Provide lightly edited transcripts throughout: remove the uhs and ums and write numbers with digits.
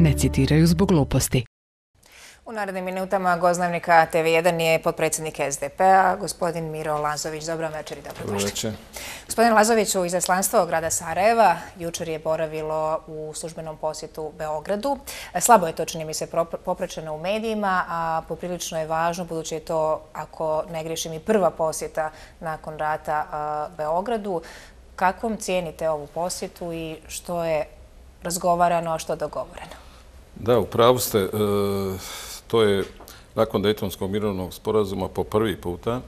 ne citiraju zbog gluposti. U narednim minutama gost Dnevnika TV1 je potpredsjednik SDP-a, gospodin Miro Lazović. Dobro večer i dobrodošli. Gospodin Lazović, u izaslanstvo grada Sarajeva jučer je boravilo u službenom posjetu Beogradu. Slabo je to, čini mi se, popraćeno u medijima, a poprilično je važno, budući je to, ako ne griješim, i prva posjeta nakon rata Beogradu. Kakvom cijenite ovu posjetu i što je razgovarano, a što dogovoreno? Da, u pravu ste. To je nakon Dejtonskog mirovnog sporazuma po prvi puta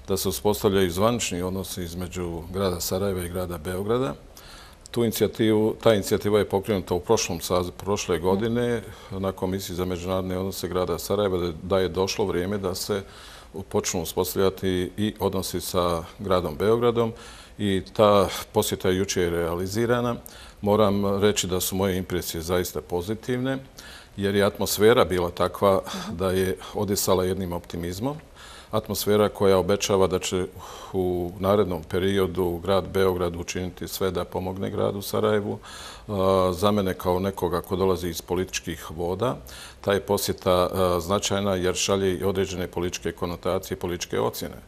da se uspostavljaju zvanični odnosi između grada Sarajeva i grada Beograda. Ta inicijativa je pokrenuta u prošlom sazivu prošle godine na Komisiji za međunarodne odnose grada Sarajeva, da je došlo vrijeme da se počnu uspostavljati i odnosi sa gradom Beogradom i ta posjeta jučer je realizirana. Moram reći da su moje impresije zaista pozitivne, jer je atmosfera bila takva da je odisala jednim optimizmom. Atmosfera koja obećava da će u narednom periodu grad Beograd učiniti sve da pomogne gradu Sarajevu. Za mene kao nekoga ko dolazi iz političkih voda, ta je posjeta značajna jer šalje i određene političke konotacije i političke ocjene.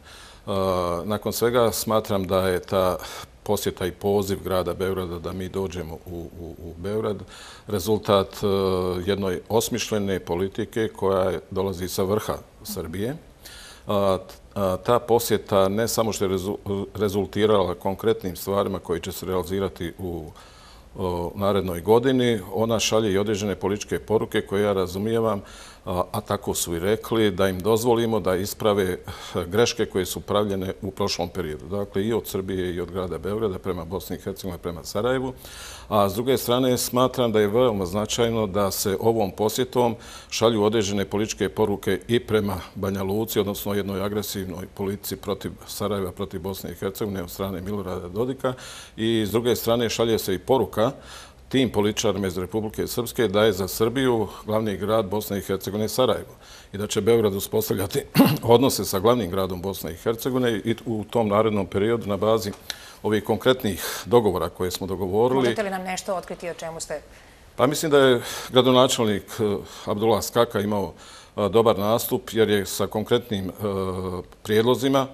Nakon svega smatram da je ta posjeta i poziv grada Beograda da mi dođemo u Beograd rezultat jednoj osmišljene politike koja dolazi sa vrha Srbije. Ta posjeta ne samo što je rezultirala konkretnim stvarima koji će se realizirati u narednoj godini, ona šalje i određene političke poruke koje ja razumijevam, a tako su i rekli, da im dozvolimo da isprave greške koje su pravljene u prošlom periodu. Dakle, i od Srbije i od grada Beograda prema Bosni i Hercegovini, prema Sarajevu. A s druge strane, smatram da je veoma značajno da se ovom posjetom šalju određene političke poruke i prema Banja Luci, odnosno jednoj agresivnoj politici protiv Sarajeva, protiv Bosne i Hercegovine od strane Milorada Dodika. I s druge strane šalje se i poruka tim političarima iz Republike Srpske da je za Srbiju glavni grad Bosne i Hercegovine Sarajevo i da će Beograd uspostavljati odnose sa glavnim gradom Bosne i Hercegovine i u tom narednom periodu na bazi ovih konkretnih dogovora koje smo dogovorili. Možete li nam nešto otkriti o čemu ste? Pa mislim da je gradonačelnik Abdullah Skaka imao dobar nastup jer je sa konkretnim prijedlozima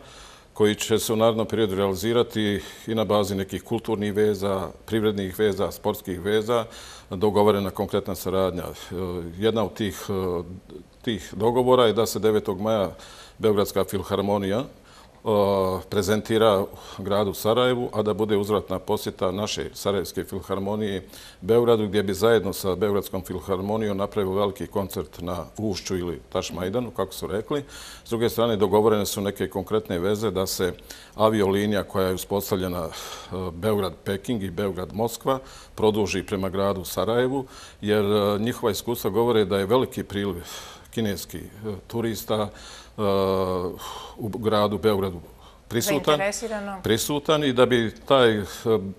koji će se u narednom periodu realizirati i na bazi nekih kulturnih veza, privrednih veza, sportskih veza, dogovorena konkretna saradnja. Jedna od tih dogovora je da se 9. maja Beogradska filharmonija prezentira gradu Sarajevu, a da bude uzvratna posjeta naše Sarajevske filharmonije Beogradu, gdje bi zajedno sa Beogradskom filharmonijom napravio veliki koncert na Ušću ili Tašmajdanu, kako su rekli. S druge strane, dogovorene su neke konkretne veze da se aviolinija koja je uspostavljena Beograd-Peking i Beograd-Moskva produži prema gradu Sarajevu, jer njihova iskustva govore da je veliki priliv kineskih turista u gradu Beogradu prisutan i da bi taj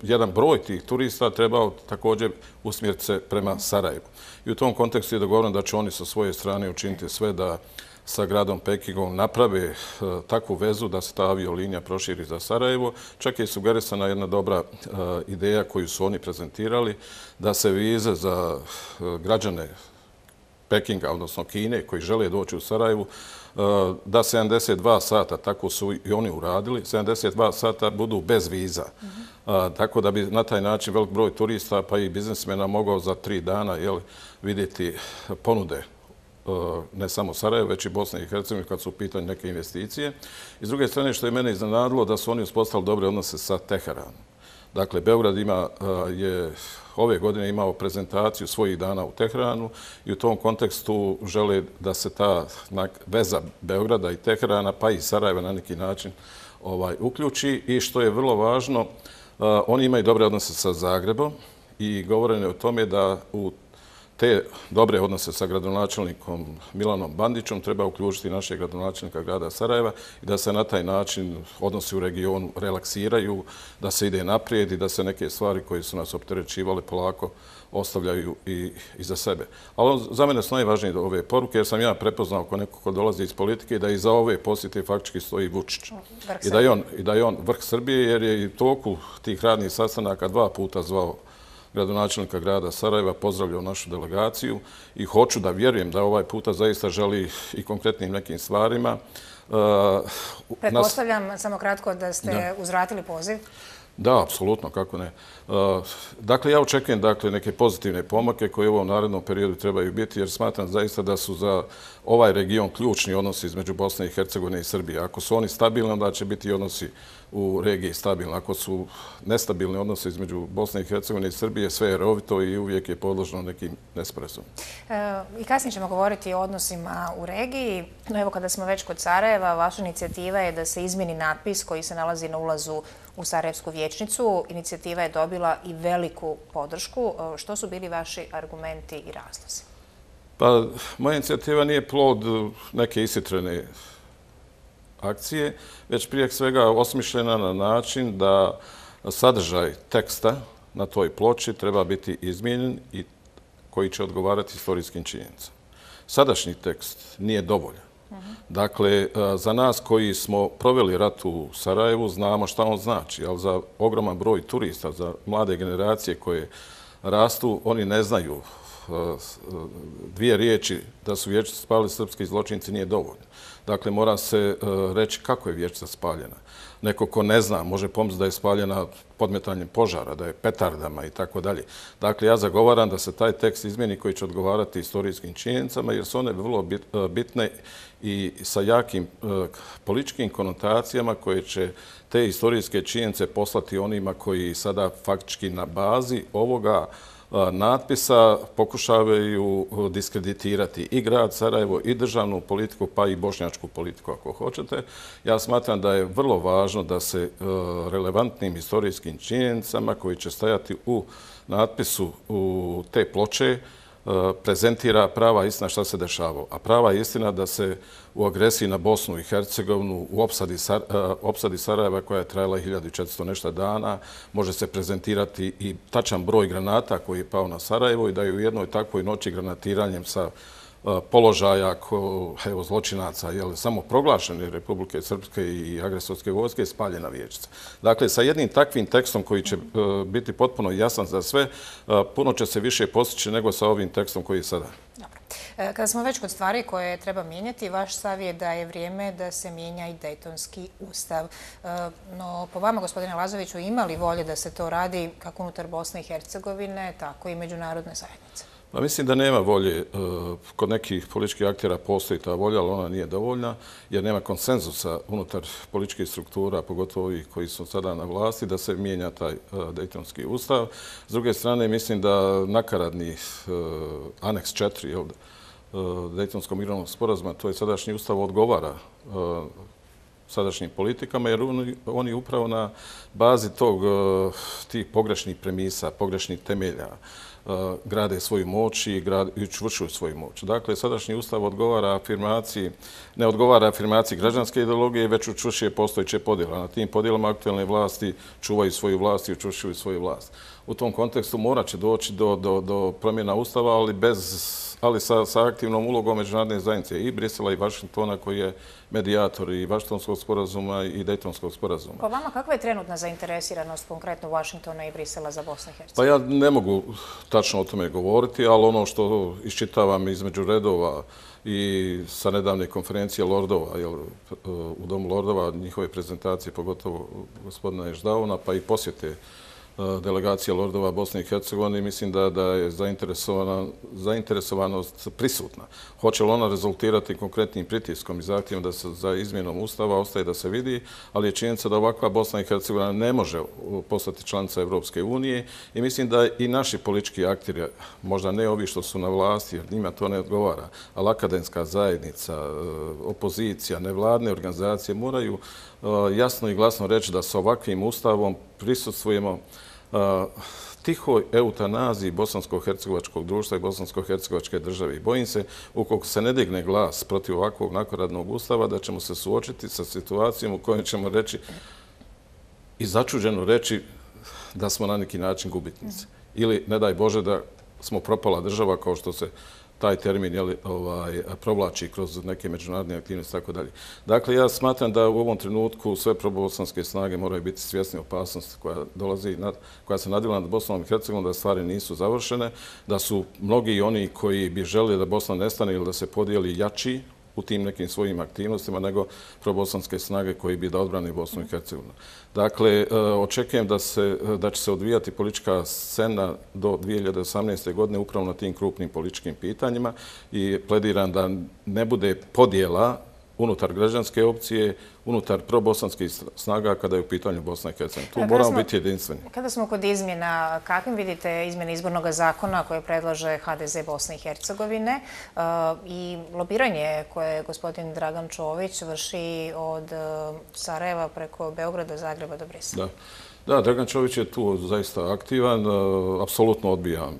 jedan broj tih turista trebao također usmjeriti se prema Sarajevu. I u tom kontekstu je dogovoreno da će oni sa svoje strane učiniti sve da sa gradom Pekingom naprave takvu vezu da se ta aviolinija proširi za Sarajevo. Čak je sugerisana jedna dobra ideja koju su oni prezentirali, da se vize za građane Pekinga, odnosno Kine, koji žele doći u Sarajevu, da 72 sata, tako su i oni uradili, 72 sata budu bez viza. Tako da bi na taj način velik broj turista pa i biznismena mogao za 3 dana vidjeti ponude ne samo Sarajeva, već i Bosne i Hercegovine kad su u pitanju neke investicije. I s druge strane, što je mene iznenadilo, da su oni uspostavili dobre odnose sa Teheranom. Dakle, Beograd je ove godine imao prezentaciju svojih dana u Teheranu i u tom kontekstu žele da se ta veza Beograda i Teherana, pa i Sarajeva na neki način uključi. I što je vrlo važno, oni imaju dobre odnose sa Zagrebom i govoreno je o tome da u te dobre odnose sa gradonačelnikom Milanom Bandićom treba uključiti našeg gradonačelnika grada Sarajeva i da se na taj način odnosi u regionu relaksiraju, da se ide naprijed i da se neke stvari koje su nas opterećivale polako ostavljaju i za sebe. Ali za mene su najvažnije ove poruke, jer sam ja prepoznao ako neko ko dolazi iz politike da iza ove posjete faktički stoji Vučić. I da je on vrh Srbije, jer je i toku tih radnih sastanaka 2 puta zvao gradonačelnika grada Sarajeva, pozdravljao našu delegaciju i hoću da vjerujem da ovaj puta zaista želi i konkretnim nekim stvarima. Pretpostavljam, samo kratko, da ste uzvratili poziv. Da, apsolutno, kako ne. Dakle, ja očekujem neke pozitivne pomake koje u ovom narednom periodu trebaju biti, jer smatram zaista da su za ovaj region ključni odnosi između Bosne i Hercegovine i Srbije. Ako su oni stabilni, onda će biti odnosi u regiji stabilni. Ako su nestabilni odnosi između Bosne i Hercegovine i Srbije, sve je rovito i uvijek je podložno nekim nesporazumima. I kasnije ćemo govoriti o odnosima u regiji. No evo, kada smo već kod Sarajeva, vaša inicijativa je da se izmjeni natpis koji se nalazi na ulazu u Sarajevsku vijećnicu. Inicijativa je dobila i veliku podršku. Što su bili vaši argumenti i razlozi? Pa, moja inicijativa nije plod neke ishitrene akcije, već prije svega osmišljena na način da sadržaj teksta na toj ploči treba biti izmijenjen i koji će odgovarati historijskim činjenicama. Sadašnji tekst nije dovoljan. Dakle, za nas koji smo proveli rat u Sarajevu znamo šta on znači, ali za ogroman broj turista, za mlade generacije koje rastu, oni ne znaju dvije riječi da su Vječica spalili srpski zločinci nije dovoljno. Dakle, mora se reći kako je Vječica spaljena. Neko ko ne zna može pomisliti da je spaljena podmetanjem požara, da je petardama i tako dalje. Dakle, ja zagovaram da se taj tekst izmijeni koji će odgovarati historijskim činjenicama, jer su one vrlo bitne i sa jakim političkim konotacijama koje će te historijske činjenice poslati onima koji sada faktički na bazi ovoga natpisa pokušavaju diskreditirati i grad Sarajevo, i državnu politiku, pa i bošnjačku politiku, ako hoćete. Ja smatram da je vrlo važno da se relevantnim historijskim činjenicama koji će stajati u natpisu u te ploče prezentira prava istina šta se dešavalo. A prava istina da se u agresiji na Bosnu i Hercegovinu, u opsadi Sarajeva koja je trajala 1400 nešto dana, može se prezentirati i tačan broj granata koji je pao na Sarajevo i da je u jednoj takvoj noći granatiranjem sa položaja zločinaca, samo proglašene Republike Srpske i agresorske vojske, spaljena Vječica. Dakle, sa jednim takvim tekstom koji će biti potpuno jasan za sve, puno će se više postići nego sa ovim tekstom koji je sada. Dobro. Kada smo već kod stvari koje treba mijenjati, vaš stav je da je vrijeme da se mijenja i Dejtonski ustav. No, po vama, gospodine Lazoviću, ima li volje da se to radi kako unutar Bosne i Hercegovine, tako i međunarodne zajednice? Pa mislim da nema volje. Kod nekih političkih aktera postoji ta volja, ali ona nije dovoljna, jer nema konsenzusa unutar političkih struktura, pogotovo ovih koji su sada na vlasti, da se mijenja taj Dejtonski ustav. S druge strane, mislim da nakaradni aneks 4 Dejtonskog mirovnog sporazuma, to je sadašnji ustav, odgovara sadašnjim politikama, jer oni upravo na bazi tih pogrešnih premisa, pogrešnih temelja, grade svoju moć i učvršuju svoju moć. Dakle, sadašnji ustav ne odgovara afirmaciji građanske ideologije, već učvršuje postojeće podjele. Na tim podjelama aktualne vlasti čuvaju svoju vlast i učvršuju svoju vlast. U tom kontekstu morat će doći do promjena ustava, ali sa aktivnom ulogom međunarodne zajednice i Brisela i Vašingtona koji je medijator i Vašingtonskog sporazuma i Dejtonskog sporazuma. Po vama, kakva je trenutna zainteresiranost konkretno Vašingtona i Brisela za Bosnu i Hercegovinu? Pa ja ne mogu tačno o tome govoriti, ali ono što iščitavam između redova i sa nedavne konferencije Lordova, u Domu Lordova, njihove prezentacije, pogotovo gospodina Ježdavona, pa i posjete delegacija Lordova Bosne i Hercegovine, mislim da je zainteresovanost prisutna. Hoće li ona rezultirati konkretnim pritiskom i zahtjevom da se za izmjenom ustava ostaje da se vidi, ali je činjenica da ovakva Bosna i Hercegovina ne može postati članica Evropske unije i mislim da i naši politički akteri, možda ne ovi što su na vlasti, jer njima to ne odgovara, ali akademska zajednica, opozicija, nevladne organizacije moraju jasno i glasno reći da sa ovakvim ustavom prisustvujemo tihoj eutanaziji bosansko-hercegovačkog društva i bosansko-hercegovačke države. I bojim se, ukoliko se ne digne glas protiv ovakvog nakaradnog ustava, da ćemo se suočiti sa situacijom u kojoj ćemo reći i začuđeno reći da smo na neki način gubitnici. Ili, ne daj Bože, da smo propala država kao što se taj termin provlači kroz neke međunarodne aktivnosti i tako dalje. Dakle, ja smatram da u ovom trenutku sve probosanske snage moraju biti svjesni opasnosti koja se nadvila nad Bosnom i Hercegovinom, da stvari nisu završene, da su mnogi oni koji bi želeli da Bosna nestane ili da se podijeli jači u tim nekim svojim aktivnostima nego probosanske snage koji bi da odbrani Bosnu i Hercegovinu. Dakle, očekujem da će se odvijati politička scena do 2018. godine upravo na tim krupnim političkim pitanjima i plediram da ne bude podjela unutar građanske opcije, unutar probosanskih snaga kada je u pitanju Bosna i Hercegovina. Tu moramo biti jedinstveni. Kada smo kod izmjena, kakvim vidite izmjene izbornog zakona koje predlaže HDZ Bosne i Hercegovine i lobiranje koje gospodin Dragan Čović vrši od Sarajeva preko Beograda, Zagreba do Brisela? Da, Dragan Čović je tu zaista aktivan. Apsolutno odbijam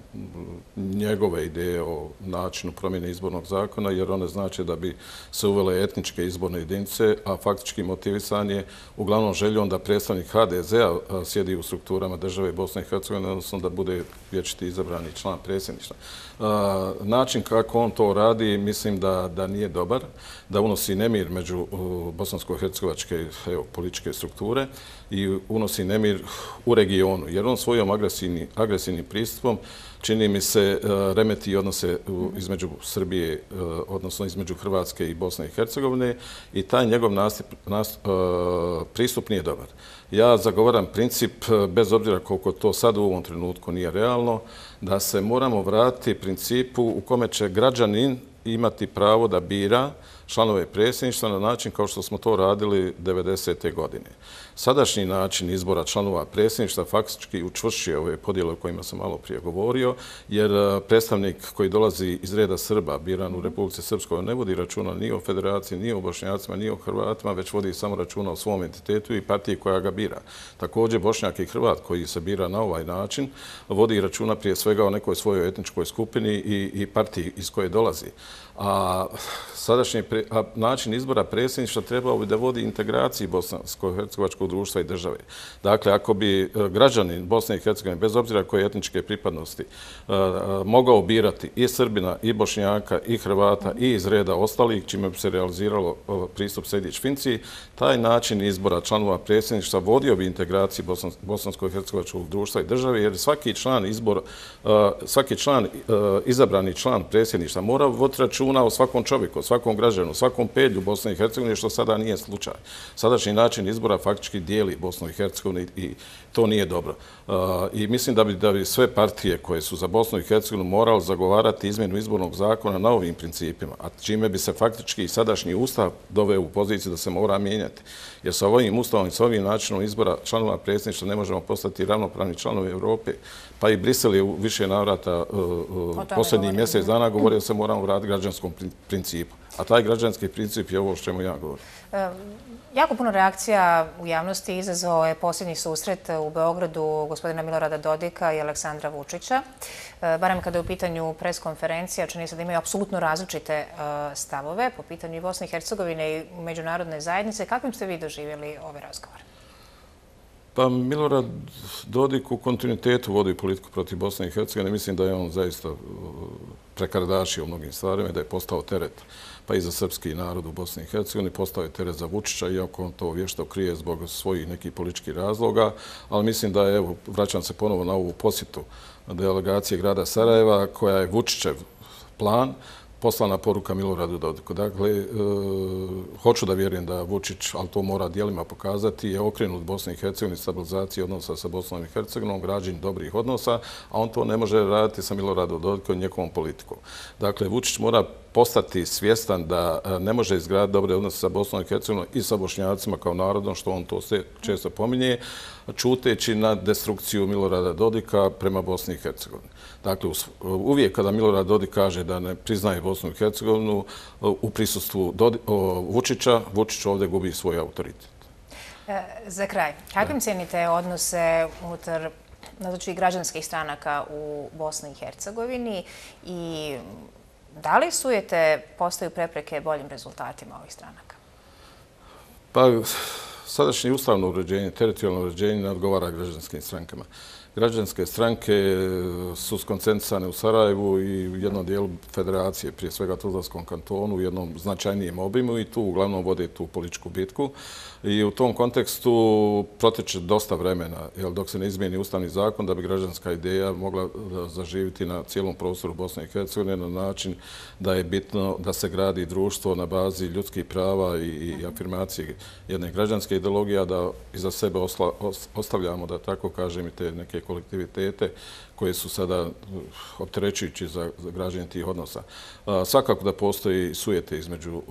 njegove ideje o načinu promjene izbornog zakona, jer one znači da bi se uvele etničke izborne jedinice, a faktički motivisan je uglavnom željom da predstavnik HDZ-a sjedi u strukturama države Bosne i Hercegovine, odnosno da bude vječiti izabrani član predsjedništva. Način kako on to radi, mislim da nije dobar, da unosi nemir među bosansko-hercegovačke političke strukture i unosi nemir u regionu, jer on svojom agresivnim pristupom čini mi se remeti odnose između Srbije, odnosno između Hrvatske i Bosne i Hercegovine i taj njegov pristup nije dobar. Ja zagovaram princip, bez obzira koliko to sad u ovom trenutku nije realno, da se moramo vratiti principu u kome će građanin imati pravo da bira članove predsjedništva na način kao što smo to radili 90. godine. Sadašnji način izbora članova predsjedništva faktički učvršćuje ove podjele o kojima sam malo prije govorio, jer predstavnik koji dolazi iz reda Srba, biran u Republici Srpskoj, ne vodi računa ni o federaciji, ni o Bošnjacima, ni o Hrvatima, već vodi samo računa o svom entitetu i partiji koja ga bira. Također, Bošnjak i Hrvat koji se bira na ovaj način vodi računa prije svega o nekoj svojoj etničkoj skupini i partiji iz koje dolazi. A sadašnji način izbora predsjedništva trebao bi da vodi integraciji bosansko-hercegovačkog društva i države. Dakle, ako bi građanin Bosne i Hercegovine, bez obzira koje etničke pripadnosti, mogao birati i Srbina, i Bošnjaka, i Hrvata, i iz reda ostalih, čime bi se realiziralo pristup Sejdić-Finci, taj način izbora članova predsjedništva vodio bi integraciji bosansko-hercegovačkog društva i države, jer svaki izabrani član predsjedništva mora voditi računa o svakom čovjeku, o svakom građanu, o svakom pedlju Bosne i Hercegovine, što sada nije slučaj. Sadašnji način izbora faktički dijeli Bosnu i Hercegovinu i to nije dobro. I mislim da bi sve partije koje su za Bosnu i Hercegovinu morali zagovarati izmjenu izbornog zakona na ovim principima, a čime bi se faktički sadašnji ustav doveo u poziciju da se mora mijenjati. Jer sa ovim ustavom i sa ovim načinom izbora članova predsjedništva ne možemo postati ravnopravni članovi Europe, pa i Brisel je u više navrata posljednjih mjesec dana govorio da se moramo vratiti građanskom principu. A taj građanski princip je ovo o čemu ja govorim. Jako puno reakcija u javnosti izazvao je posljednji susret u Beogradu gospodina Milorada Dodika i Aleksandra Vučića. Barem kada je u pitanju preskonferencija, čini se da imaju apsolutno različite stavove po pitanju i Bosne i Hercegovine i međunarodne zajednice. Kakvim ste vi doživjeli ove razgovore? Pa Milorad Dodik u kontinuitetu vodi politiku protiv Bosne i Hercegovine. Mislim da je on zaista prekardašio u mnogim stvarima i da je postao teret pa i za srpski narod u Bosni i Hercegovini, postao je teret za Vučića, iako on to vješto krije zbog svojih nekih političkih razloga, ali mislim da je, evo, vraćam se ponovo na ovu posjetu delegacije grada Sarajeva, koja je Vučićev plan, poslana poruka Miloradu Dodiku. Dakle, hoću da vjerujem da Vučić, ali to mora dijelima pokazati, je okrenut Bosni i Hercegovini, stabilizaciji odnosa sa Bosnom i Hercegovinom, građenju dobrih odnosa, a on to ne može raditi sa Miloradom Dodikom i njegovom politikom. Dakle, Vučić mora postati svjestan da ne može izgraditi dobre odnose sa Bosnom i Hercegovinom i sa Bošnjacima kao narodom, što on to često pominje, čuteći na destrukciju Milorada Dodika prema Bosni i Hercegovini. Dakle, uvijek kada Milorad Dodik kaže da ne priznaje Bosnu i Hercegovinu, u prisustvu Vučića, Vučić ovdje gubi svoj autoritet. Za kraj, kakvim cijenite odnose unutar građanskih stranaka u Bosni i Hercegovini i da li postaju prepreke boljim rezultatima ovih stranaka? Pa, Sadašnje ustavno uređenje, teritorijalno uređenje ne odgovara građanskim strankama. Građanske stranke su skoncentrisane u Sarajevu i u jednom dijelu federacije, prije svega Tuzlanskom kantonu, u jednom značajnijem obimu i tu uglavnom vode tu političku bitku. I u tom kontekstu proteče dosta vremena, jer dok se ne izmijeni ustavni zakon, da bi građanska ideja mogla zaživiti na cijelom prostoru Bosne i Hercegovine na način da je bitno da se gradi društvo na bazi ljudskih prava i afirmacije jedne građanske ideologije, a da iza sebe ostavljamo, da tako kažem, i te neke kolektivitete koje su sada opterećujući za građenje tih odnosa. Svakako da postoji sujete između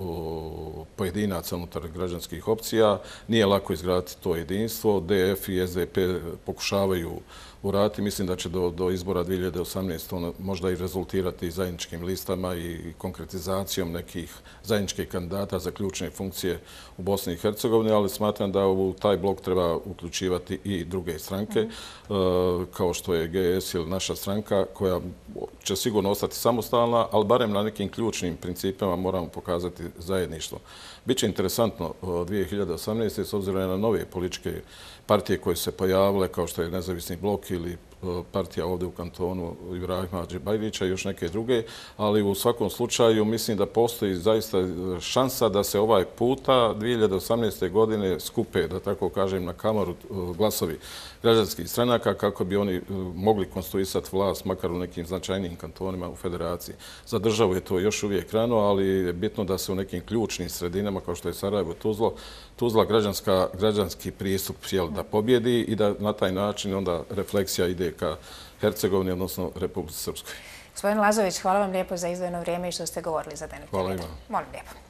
pojedinaca unutar građanskih opcija. Nije lako izgraditi to jedinstvo. DF i SDP pokušavaju uraditi. Mislim da će do izbora 2018. možda i rezultirati zajedničkim listama i konkretizacijom nekih zajedničkih kandidata za ključne funkcije u Bosni i Hercegovini, ali smatram da u taj blok treba uključivati i druge stranke, kao što je GS ili naša stranka, koja će sigurno ostati samostalna, ali barem na nekim ključnim principima moramo pokazati zajedništvo. Biće interesantno 2018. s obzirom na nove političke partije koje se pojavile, kao što je Nezavisni blok ili partija ovdje u kantonu Ibrahima Hadžibajlića i još neke druge, ali u svakom slučaju mislim da postoji zaista šansa da se ovaj puta 2018. godine skupe, da tako kažem, na kamaru glasovi građanskih stranaka kako bi oni mogli konstruisati vlast makar u nekim značajnijim kantonima u federaciji. Za državu je to još uvijek rano, ali je bitno da se u nekim ključnim sredinama kao što je Sarajevo, Tuzla građanski pristup da pobjedi i da na taj način onda refleksija ide ka Hercegovini, odnosno Republici Srpskoj. Gospodin Lazović, hvala vam lijepo za izdvojeno vrijeme i što ste govorili za DNTV. Hvala ima. Molim lijepo.